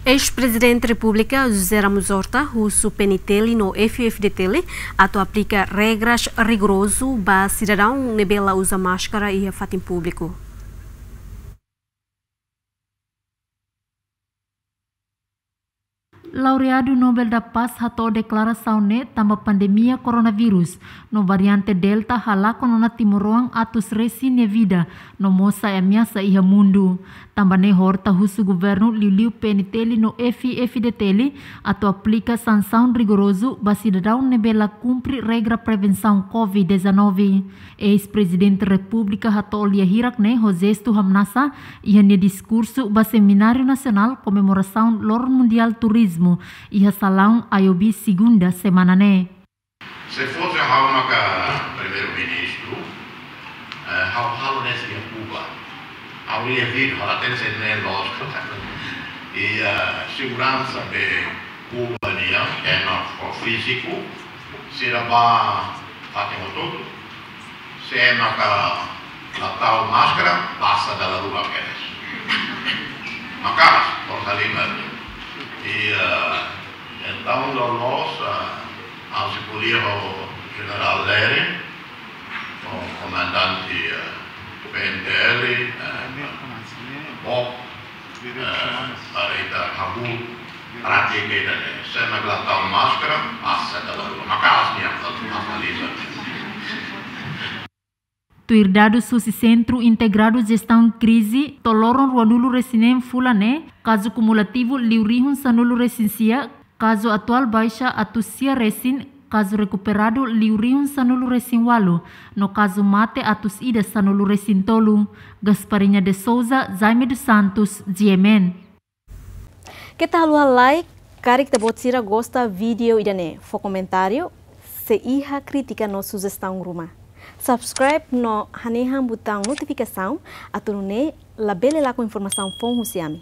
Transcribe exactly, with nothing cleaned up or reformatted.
Eis-Prezidente Repúblika José Ramos Horta husu P N T L no F I F D T L atu aplika regras rigorozu ba sidadaun ne'ebé la uza máskara iha fatin públiku. Laureadu Nobel da Paz hato'o deklarasaun ne'e tanba pandemia koronavírus no variante Delta halakon ona timoroan atus resin nia vida no mós sai ameasa iha mundu. Tanba ne'e Horta husu governu liuliu P N T L no F I F D T L atu aplika sansaun rigorozu ba sidadaun ne'ebé la kumpre regra prevensaun COVID dezanove. Eis-Prezidente Repúblika hato'o lia hirak ne'e ho jestu hamnasa iha nia diskursu ba Semináriu Nasionál Komemorasaun Loron Mundiál Turizmu iha salaun I O B segunda semana ne'e. Se fosse ha'u maka primeiru-ministru, eh, ha'u halo ne'e iha Kuba. Ha'u iha vídeo, ha'u la hatene se ne'e loos ka lae. I, eh, seguransa be Kuba nian, ema fíziku, sira bá fatin hotu-hotu. Se maka la tau máskara, pasa dala rua kedas. Maka'as, forsa lima. I, eh, entaun loloos, eh, ha'u sei ko'alia ho Jenerál Lere, ho komandante, eh, P N T L, eh, Bok, eh, para ita hahú prátika ida-ne'e. Se maka la tau máskara, pasa dala rua. Maka'as nian, la tau máskara. Tuir dadus husi Sentru Integradu Jestaun Krize, to'o loron ruanulu-resin-neen fulan ne'e, kazu kumulativu liu rihun sanulu-resin-sia, kazu atuál baixa atus sia resin, kazu rekuperadu liu rihun sanulu-resin-ualu, no kazu mate atus ida sanulu-resin-tolu. Gasparinha de Souza, Jaime dos Santos, G M N. Keta haluha like, karik ita-boot sira gosta vídeo ida-ne'e, fó komentáriu, se iha krítika no sujestaun ruma. Subscribe no hanehan butaun notifikasaun, atu nune'e labele lakon informasaun foun husi ami.